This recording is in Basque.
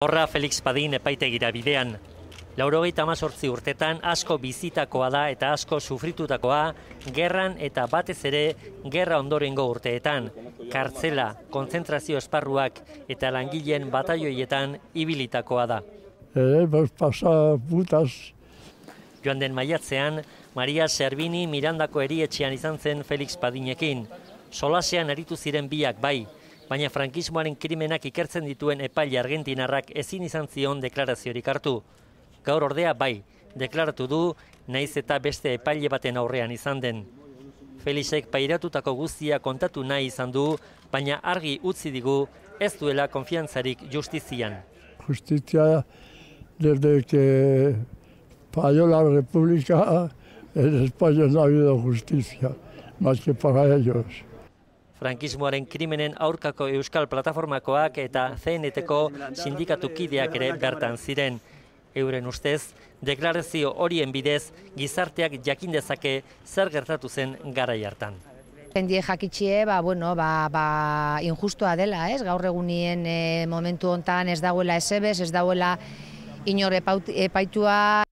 Horra Felix Padin epaitegira bidean. 98 urtetan asko bizitakoa da eta asko sufritutakoa, gerran eta batez ere gerra ondorengo urteetan, kartzela, kontzentrazio esparruak eta langileen batalloietan ibilitakoa da. Joan den maiatzean, Maria Servini Mirandako erietxean izan zen Felix Padinekin. Solasean aritu ziren biak bai, baina frankismoaren krimenak ikertzen dituen epaile argentinarrak ezin izan zion deklaraziorik hartu. Gaur ordea bai, deklaratu du, naiz eta beste epaile baten aurrean izan den. Felixek pairatutako guztia kontatu nahi izan du, baina argi utzi digu ez duela konfiantzarik justizian. Justicia, desde que falló la República, en España no ha habido justicia, más que para ellos. Frankismoaren krimenen aurkako Euskal Plataformakoak eta CNT-ko sindikatu kideak ere bertan ziren. Euren ustez, deklarazio horien bidez gizarteak jakin dezake zer gertatu zen garai hartan. Jendie jakitxie, injustua dela, ez? Gaur egunien momentu hontan ez dauela esebez, ez dauela inor epaitua.